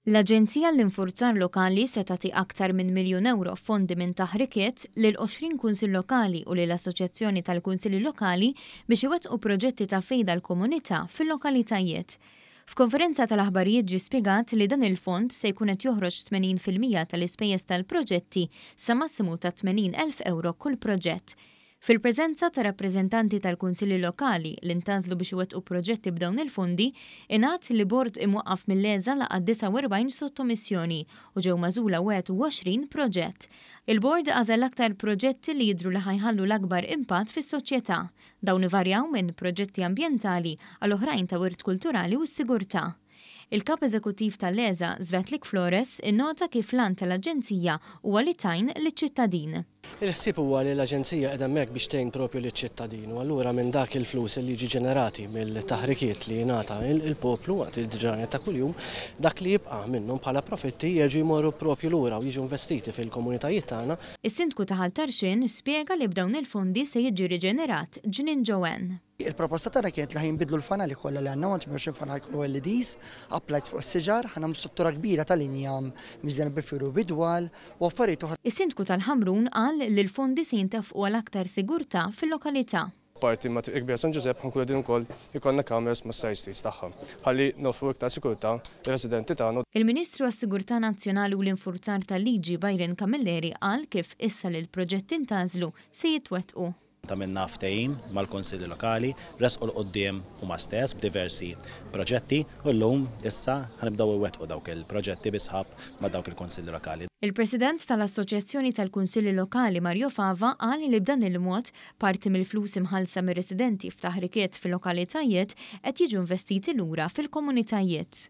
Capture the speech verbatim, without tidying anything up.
L-Aġenzija l-Infurzar Lokali se tagħti aktar minn miljun euro fondi minn taħrikiet lil għoxrin kunsill lokali u lil Assoċjazzjoni tal-Kunsilli Lokali biex iwettqu proġetti ta' fejda l-komunità fil-lokalitajiet. F'konferenza tal-aħbarijiet ġie spjegat li dan il-fond se jkun qed joħroġ tmenin fil-mija tal-ispejjeż tal-proġetti sa massimu ta' tmenin elf euro kull proġett. Fil-preżenza ta' rappreżentanti tal-Kunsilli Lokali li ntgħażlu biex iwettqu proġetti b'dawn il-fondi, ingħad li bord imwaqqaf mill-EŻA laqa' disgħa u erbgħin sottomissjoni u ġew magħżula wieħed u għoxrin proġett. Il-bord għażel l-aktar proġetti li jidhru li ħajħallu l-akbar impatt fis-soċjetà. Dawn ivarjaw minn proġetti ambjentali għal oħrajn ta' wirt kulturali u s-sigurtà. Il-kap eżekuttiv tal-EŻA, Svetlik Flores, innota kif l-għan tal-Aġenzija huwa li tgħin liċ-ċittadin. Il-ħsieb huwa li l-Aġenzija qiegħda hemmhekk biex tgħin propju liċ-ċittadin u allura minn dak il-flus li jiġi ġenerati mill-taħrikiet li jingħata il-poplu waqt il-ġranet ta' kuljum, dak li jibqa' minnhom bħala profitti jerġgħu jmorru propju lura u jiġu investiti fil-komunitajiet tagħna. Is-Sindku ta' Ħal Tarxien spjega li b'dawn il-fondi se jiġi riġenerat Ġnien Joanne. Il-proposta tagħna kienet li ħajnbidlu l-fanali kollha li għandna, għand tmien fanal jkunu L E Ds, uplights fuq is-siġar, ħa nagħmlu struttura kbira tal-injam miżjena bil-firu bidwal u affarijiet oħra. Is-Sindku tal-Ħamrun qal li l-fondi se jintefqu għal aktar sigurtà fil-lokalità. Parti ma' Triq Kbira San Ġużepp ħankun qegħdin ukoll ikollna kameras ma' side streets tagħha ħalli noffru iktar sigurtà lir-residenti tagħna. Il-Ministru għas-Sigurtà Nazzjonali u l-Infurzar tal-Liġi Byron Camilleri qal kif issa li l-proġetti ntgħażlu se jitwettqu. Għamilna ftehim mal-Kunsilli Lokali, resqu l-qudiem huma stess b'diversi proġetti u llum issa ħanibdew iwettqu dawk il-proġetti bi sħab ma' dawk il-Kunsilli Lokali. Il-President tal-Assoċjazzjoni tal-Kunsilli Lokali Mario Fava qal li b'dan il-mod parti mill-flus imħallsa mir-residenti f'taħrikiet fil-lokalitajiet qed jiġu investiti lura fil-komunitajiet.